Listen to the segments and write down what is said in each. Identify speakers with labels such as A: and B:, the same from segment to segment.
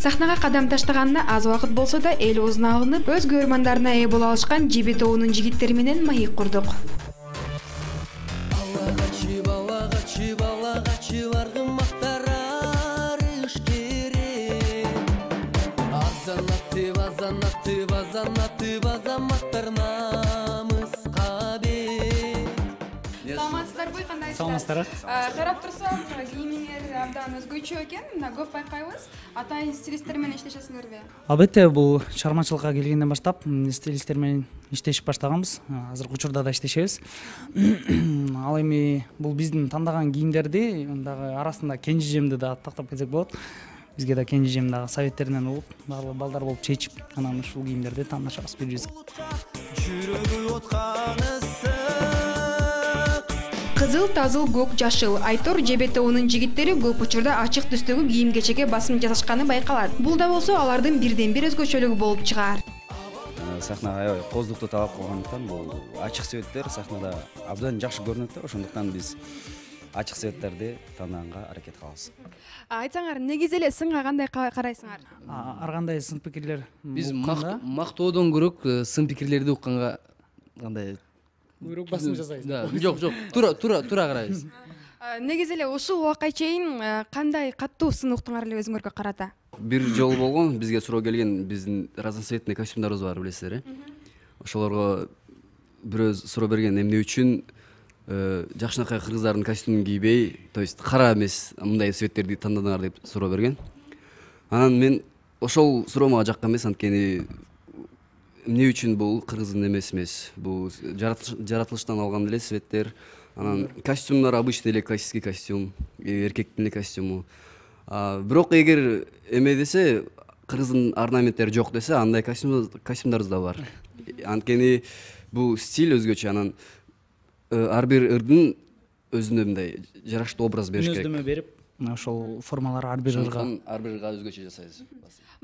A: Сахнага кадам таштаганына аз убакыт болсо да эл оозуна алынып, өз көрөрмандарына ээ боло алышкан Жебе тобунун жигиттери менен маек курдук. Саламатсыздарбы, кандайсыздар?
B: Саламатсыздар.
A: Карап турсак, кийимиңер абдан өзгөчө экен. Мына көп байкайбыз. Атайын стилисттер менен иштешесиңерби?
B: Албетте, бул чыгармачылыкка келгенден баштап стилисттер менен иштешип баштаганбыз. Азыркы учурда да иштешебиз. Ал эми бул биздин тандаган кийимдерди дагы арасында Кенжижемди да тактап кетсек болот. Бизге да Кенжижем дагы советтеринен угуп, баардык балдар болуп чечип, анан ушул кийимдерди тандашабыз бирибизге.
A: Кызыл, тазыл, көк, жашыл. Айтор Жебе тобунун жигиттери көп учурда ачык түстөгү кийим-кечекке басым жасашканы байкалат. Бул да болсо алардын бирден-бир өзгөчөлүгү болуп чыгаар.
C: Сахнага аябай коздукту талап кылгандыктан бул ачык светтер сахнада абдан жакшы көрүнөт да, ошондуктан биз ачык светтерди тандаганга аракет кылабыз.
A: Айтсаңар, негиз эле сынга кандай карайсыңар?
B: Ар кандай сын пикирлер
D: Биз мактоодон көрөк сын пикирлерди укканга кандай
B: көбүрөөк басым жасайбыз.
D: Жок, тура карайбыз.
A: Негиз эле ушул убакка чейин кандай каттуу сын уктуңар эле өзүңөргө карата?
D: Бир жолу болгон, бизге суроо келген, биздин разноцветный костюмдарыбыз бар, билесиздер, ошолорго бирөө суроо берген, эмне үчүн жакшынакай кыргыздардын костюмун кийбей, то есть кара эмес, мындай цветтерди тандадыңар деп суроо берген. Анан мен ошол суроо мага жаккан эмес, анткени эмне үчүн бул кыргыздын эмеси эмес, бул жаратылыштан алган эле цветтер. Анан костюмдар обычный эле классический костюм, эркектин эле костюму. Бирок эгер эме десе, кыргыздын орнаменттери жок десе, андай костюмдарыбыз да бар. Анткени бул стиль өзгөчө, анан ар бир ырдын өзүнө мындай жараштуу образ бериш керек.
B: Өздөмө берип, ошол формалар ар бир
D: ырга өзгөчө жасайбыз.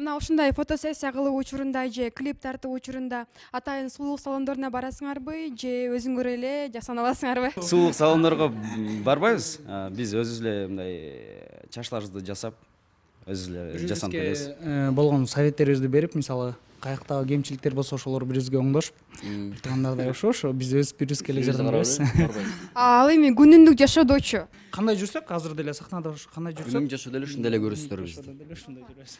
A: Мына ушундай фотосессия кылуу учурунда же клип тартуу учурунда атайын сулуулук салондоруна барасыңарбы же өзүңөр эле жасана аласыңарбы?
C: Сулуулук салондорго барбайбыз. Биз өзүбүз эле мындай чачларыбызды жасап, өзүбүз эле жасанып келебиз.
B: Болгон советтерибизди берип, мисалы каяктагы кемчиликтер болсо ошолор бирибизге оңдошуп, тургандарды ошо биз өз бирибизге эле жардам беребиз.
A: Ал эми күнүмдүк жашоодочу
B: кандай жүрсөк, азыр деле сахнада кандай жүрсөк,
D: Күнүмдүк жашоодо эле ушундай эле көрөсүздөр бизди.
B: Ушундай жүрөбүз.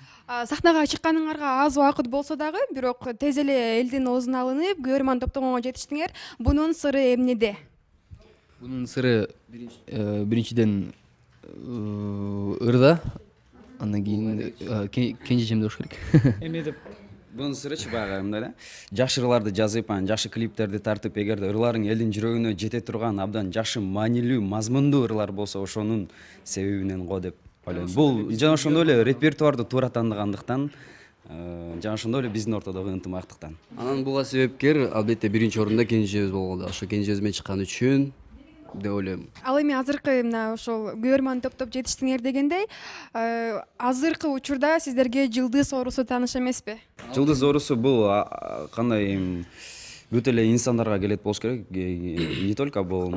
A: Сахнага чыкканыңарга аз убакыт болсо дагы, бирок тез эле элдин оозуна алынып, көрөрман топтомго жетиштиңер. Бунун сыры эмнеде?
D: Бунун сыры биринчиден ырда, андан кийин Кенжижемде болуш керек.
B: Эме деп
C: Бунун сырычы баягы мындай да, жакшы ырларды жазып, жакшы клиптерди тартып, эгерде ырларың элдин жүрөгүнө жете турган абдан жакшы маанилүү, мазмундуу ырлар болсо, ошонун себебинен го деп ойлойм. Бул жана ошондой эле репертуарды туура тандагандыктан, жана ошондой эле биздин ортодогу ынтымактыктан.
D: Анан буга себепкер албетте биринчи орунда Кенжижебиз болгон. Ошо Кенжижебиз менен чыккан үчүн деп ойлойм.
A: Ал эми азыркы мына ошол көрөрман топтоп жетиштиңер дегендей, азыркы учурда сиздерге жылдыз оорусу тааныш эмеспи?
C: Жылдыз оорусу бул кандай бүт эле инсандарга келет болуш керек. Не только бул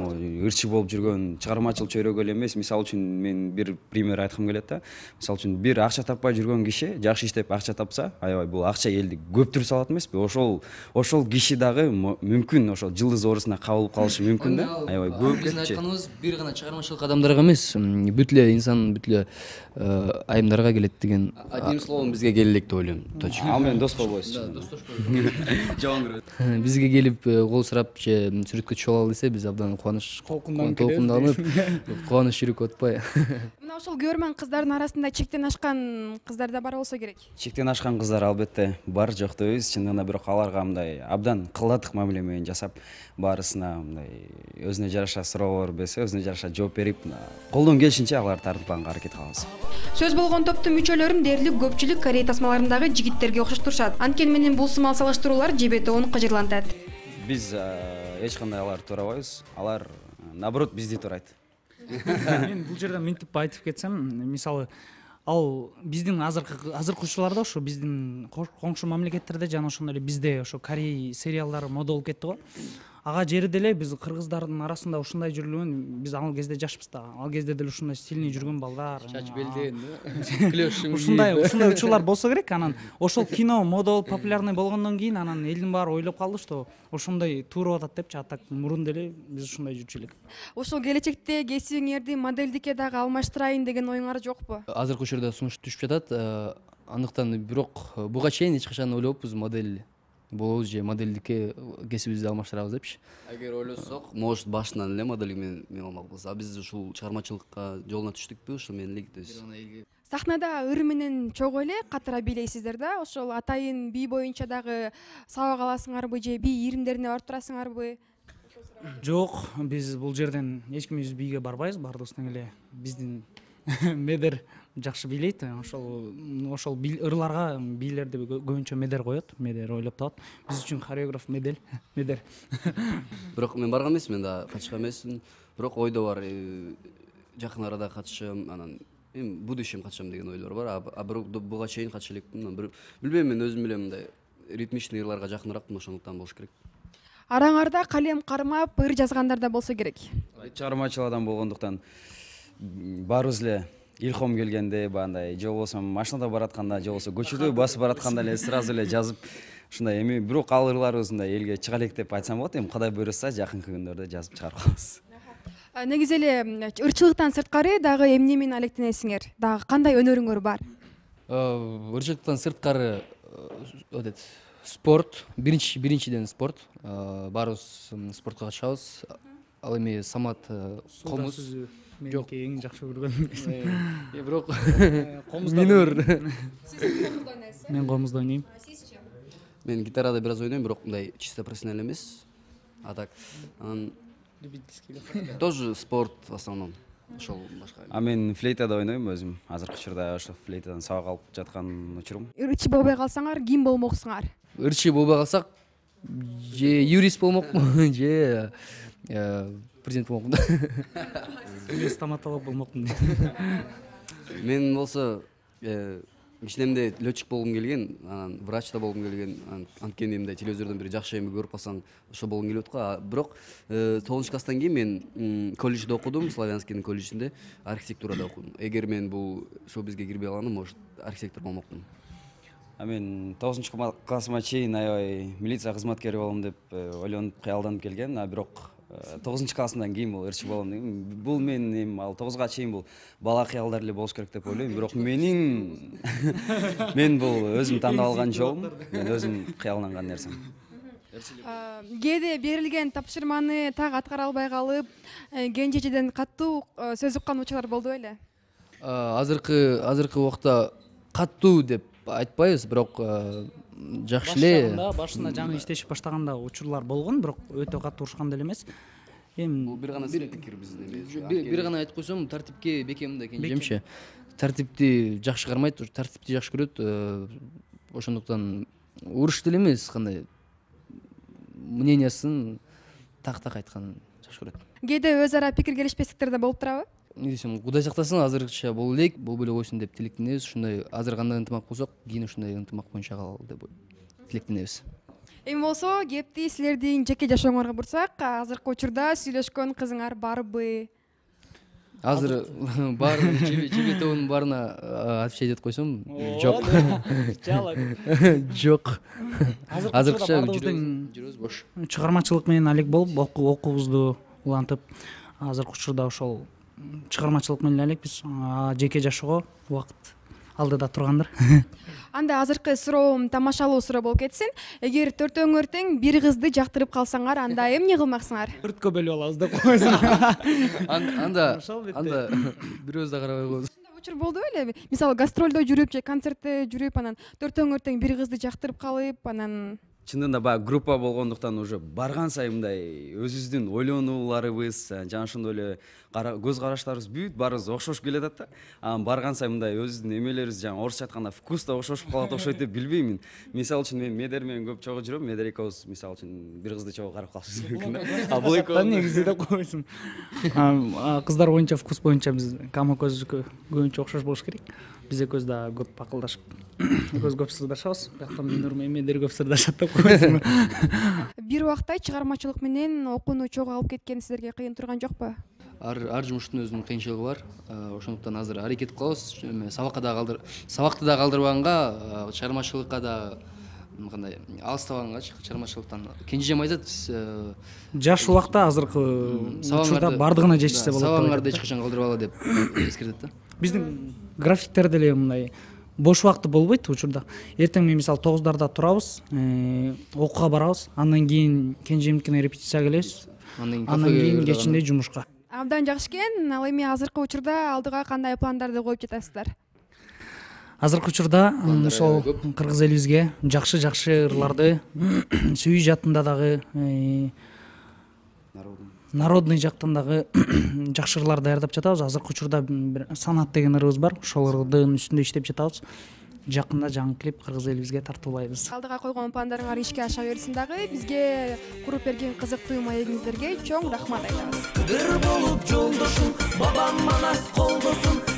C: ырчы болуп жүргөн чыгармачыл чөйрөгө эле эмес. Мисалы үчүн мен бир пример айткым келет да. Мисалы үчүн бир акча таппай жүргөн киши жакшы иштеп акча тапса, аябай бул акча элди көптүрүп салат эмеспи? Ошол киши дагы мүмкүн ошол жылдыз оорусуна кабылып калышы мүмкүн да. Аябай көп
D: Биздин айтканыбыз бир гана чыгармачылык адамдарга эмес, бүт эле инсан, бүт эле айымдарга келет деген. Одним словом бизге келелек деп ойлойм. Точка.
C: Ал менен дос болбойсуз. Жаман көрөт.
D: Бизге келип кол сурап же сүрөткө түшүп алалы десе, биз абдан толкунданып, кубаныч жүрөк атпай.
A: Мына ошол көрөрман кыздардын арасында чектен ашкан кыздар да бар болсо керек.
C: Чектен ашкан кыздар албетте бар, жок дейбиз. Чындыгында бирок аларга мындай абдан кылдатык мамиле менен жасап, баарысына мындай өзүнө жараша суроолор берсе, өзүнө жараша жооп берип, колдон келишинче аларды тартып аракет кылабыз.
A: Сөз болгон топтун мүчөлөрүн дээрлик көпчүлүк Корея тасмаларындагы жигиттерге окшоштурушат. Анткени менен бул сымал салыштыруулар Жебе тобун кыжырлантат.
C: Биз эч кандай аларды туурабайбыз. Алар наоборот бизди туурайт.
B: Мен бул жерден мынтип айтып кетсем, мисалы ал биздин азыркы учурларда ошо биздин коңшу мамлекеттерде жана ошондой эле бизде ошо Корей сериалдары мода болуп кетти го. ага жерде эле биз кыргыздардын арасында ушундай жүрүлгөн, биз ал кезде жашпыз да, ал кезде деле ушундай стильный жүргөн балдар,
E: чач белден клешим
B: ушундай учурлар болсо керек. Анан ошол кино мода болуп популярный болгондон кийин анан элдин баары ойлоп калды, что ошондой туура атат депчи. А так мурун деле биз ушундай жүрчү элек.
A: Ошол келечекте кесибиңерди моделдикке дагы алмаштырайын деген оюңар жокпу?
E: азыркы учурда сунуш түшүп жатат, андыктан бирок буга чейин эч качан ойлобупуз модель болобуз же модельдикке кесибибизди алмаштырабыз депчи.
D: Эгер ойлосок, может башынан эле модель менен алмакпыз. А биз ушул чыгармачылыкка жолуна түштүкпү, ушул менен эле.
A: Сахнада ыр менен чогуу эле катыра бийлейсиздер да? Ошол атайын бий боюнча дагы сабак аласыңарбы же бий иримдерине барып турасыңарбы?
B: Жок, биз бул жерден эч кимибиз бийге барбайбыз, бардыгыбыз тең эле биздин медер жакшы бийлейт. Ошол ырларга бийлерди көбүнчө медер коет, медер ойлоп табат. Биз үчүн хореограф медер.
D: Бирок мен барган эмесмин да, катышкан эмесмин. Бирок ойдо бар, жакын арада катышам, анан будущем катышам деген ойлор бар. А бирок буга чейин катыша элекмин. Билбейм, мен өзүм эле мындай ритмичный ырларга жакыныраакмын, ошондуктан болуш керек.
A: Араңарда калем кармап ыр жазгандар да болсо керек.
C: Чыгармачыл адам болгондуктан баарыбыз эле илхом келгенде, бандай же болбосо машинада баратканда, же болбосо көчөдө басып баратканда эле сразу эле жазып ушундай эми бирок ал ырларыбыз мындай элге чыга элек деп айтсам болот. Эми Кудай буйруса жакынкы күндөрдө жазып чыгарып калабыз.
A: Негизи эле ырчылыктан сырткары дагы эмне менен алектенесиңер? Дагы кандай өнөрүңөр бар?
E: Ырчылыктан сырткары спорт, биринчиден спорт. Баарыбыз спортко катышабыз. Ал эми Самат комуз
B: меники эң жакшы көргөн.
E: Бирок минор.
B: Мен комузда ойнойм.
D: Мен гитарада бир аз ойнойм, бирок мындай чисто профессионал эмес. А так тоже спорт в основном. Ошол башка.
C: А мен флейтада ойнойм өзүм. Азыркы учурда ошо флейтадан сабак алып жаткан учурум.
A: Ырчы болбой калсаңар, ким болмоксуңар?
E: Ырчы болбой калсак, же юрист болмокмун, же президент болмокмун.
B: Мен стоматолог болмокмун.
D: Мен болсо ичинемде летчик болгум келген, анан врач да болгум келген. Анткени мындай телевизордон бир жакшы эме көрүп калсам, ошо болгум келип аткан. Бирок 9-класстан кийин мен колледжде окудум, Славянскийдин колледжинде архитектурада окудум. Эгер мен бул шоу-бизге кирбей калгандым, может архитектор болмокмун.
C: А мен 9-классыма чейин аябай милиция кызматкери болом деп ойлонуп кыялданып келген. А бирок 9-классымдан кийин бул ырчы болом деген. Бул мен эми ал 9га чейин бул бала кыялдар эле болуш керек деп ойлойм. Бирок мен бул өзүм тандап алган жолум, мен өзүм кыялданган нерсем.
A: Кээде берилген тапшырманы так аткара албай калып, кенжечеден каттуу сөз уккан учурлар болду беле?
E: Азыркы убакта каттуу деп айтпайбыз, бирок жакшы эле.
B: Башында жаңы иштешип баштаганда учурлар болгон, бирок өтө катуу урушкан деле эмес. Эми
D: Бул бир гана пикир биздин эмес.
E: Бир гана айтып койсом, тартипке бекем да кенжемчи. Тартипти жакшы кармайт, тартипти жакшы көрөт. Ошондуктан уруш деле эмес, кандай мнениясын так айтканын жакшы көрөт.
A: Кээде өз ара пикир келишпестиктер да болуп турабы?
E: Не десем, Кудай сактасын, азыркыча боло элек, болбой эле койсун деп тилектенебиз. Ушундай азыр кандай ынтымак болсок, кийин ушундай ынтымак боюнча калалы деп тилектенебиз.
A: Эми болсо, кепти силердин жеке жашооңорго бурсак, азыркы учурда сүйлөшкөн кызыңар барбы?
E: Азыр бар жебе тобунун баарына отвечать этип койсом, жок. Жок. Азыркыча жүрөбүз бош.
B: Чыгармачылык менен алек болуп, окуубузду улантып, азыркы учурда ошол чыгармачылык менен элекпиз. Жеке жашоого убакыт алдыда тургандыр.
A: Анда азыркы суроом тамашалуу суроо болуп кетсин. Эгер төртөөңөр тең бир кызды жактырып калсаңар, анда эмне кылмаксыңар?
B: Өрткө бөлүп алабыз деп койсун.
E: Анда бирөөбүз да карабай коебуз.
A: Учур болду беле? Мисалы гастролдо жүрүп же концертте жүрүп, анан төртөөңөр тең бир кызды жактырып калып, анан
C: Чындыгында баягы группа болгондуктан уже барган сайын мындай өзүбүздүн ойлонууларыбыз, жана ошондой эле көз караштарыбыз бүт баарыбыз окшошуп келатат да. Анан барган сайын мындай өзүбүздүн эмелерибиз жана орусча айтканда вкус да окшошуп калат окшойт деп билбеймин. Мисалы үчүн мен Медер менен көп чогуу жүрөм. Медер экөөбүз мисалы үчүн бир кызды чогуу карап калышыбыз мүмкүн да. А бул экөө
B: негизи деп койсун. Кыздар боюнча вкус боюнча биз Кама көзгө көбүнчө окшош болуш керек. Биз экөөбүз да көп акылдашып, экөөбүз көп сырдашабыз. Бияктан Минур менен Медер көп сырдашат деп койсун.
A: Бир убакта чыгармачылык менен окууну чогуу алып кеткен силерге кыйын турган жокпу?
E: Ар жумуштун өзүнүн кыйынчылыгы бар. Ошондуктан азыр аракет кылабыз. Сабакты да калтырбаганга, чыгармачылыкка да кандай алыстабаганга чыгармачылыктан. Кенже айтат,
B: жаш убакта азыркы учурда бардыгына жетишсе болот.
E: Сабагыңарды эч качан калтырбагыла деп эскертет да.
B: Биздин графиктер деле мындай бош убакты болбойт учурда. Эртең мен мисалы 9дарда турабыз, окууга барабыз, андан кийин кенжемдикине репетицияга келебиз. Андан кийин кечинде жумушка.
A: Абдан жакшы экен. Ал эми азыркы учурда алдыга кандай пландарды коюп жатасыздар?
B: Азыркы учурда ошол кыргыз элибизге жакшы ырларды сүйүү жаатында дагы народный жактан дагы жакшы ырлар даярдап жатабыз. Азыркы учурда бир санат деген ырыбыз бар. Ошол ырдын үстүндө иштеп жатабыз. Жакында жаңы клип кыргыз элибизге тартуулайбыз.
A: Алдыга койгон пландарыңар ишке аша берсин дагы. Бизге куруп берген кызыктуу маегиңиздерге чоң рахмат айтабыз. Бир болуп жолдошум, бабам манас колдосун.